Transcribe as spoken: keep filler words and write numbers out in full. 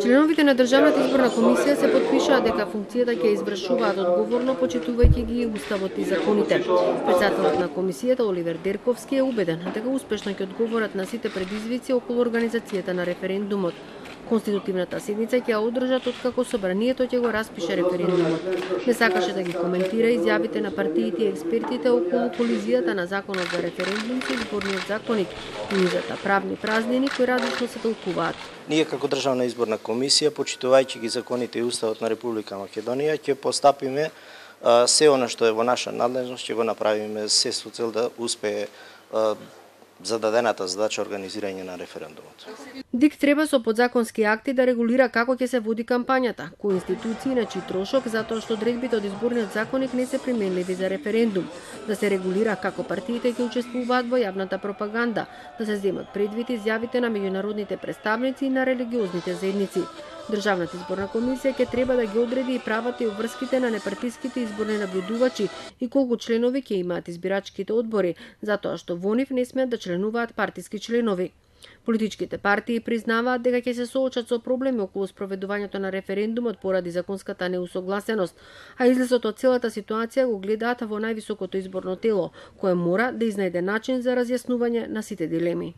Членовите на Државната изборна комисија се потпишаа дека функцијата ќе извршуваат одговорно, почитувајќи ги уставот и законите. Председателот на комисијата Оливер Дерковски е убеден дека успешно ќе одговорат на сите предизвици околу организацијата на референдумот. Конститутивната седница ќе ја одржат откако собранието ќе го распише референдумот. Не сакаше да ги коментира изјавите на партиите и експертите околу колизијата на законот за референдум со изборниот законник и низата правни празнини кои различно се толкуваат. Ние како Државна изборна комисија, почитувајќи ги законите и уставот на Република Македонија, ќе постапиме се она што е во наша надлежност, ќе го направиме се со цел да успее зададената задача организирање на референдумот. ДИК треба со подзаконски акти да регулира како ќе се води кампањата, кои институции на чиј трошок, затоа што одредбите од изборниот законник не се применливи за референдум, да се регулира како партиите ќе учествуваат во јавната пропаганда, да се земат предвид изјавите на меѓународните представници и на религиозните заедници. Државната изборна комисија ќе треба да ги одреди и правата и обврските на непартиските изборни наблюдувачи и колку членови ќе имаат избирачките одбори, затоа што во нив не смеат да членуваат партиски членови. Политичките партии признаваат дека ќе се соочат со проблеми околу спроведувањето на референдумот поради законската неусогласеност, а излезот од целата ситуација го гледаат во највисокото изборно тело, кое мора да изнајде начин за разјаснување на сите дилеми.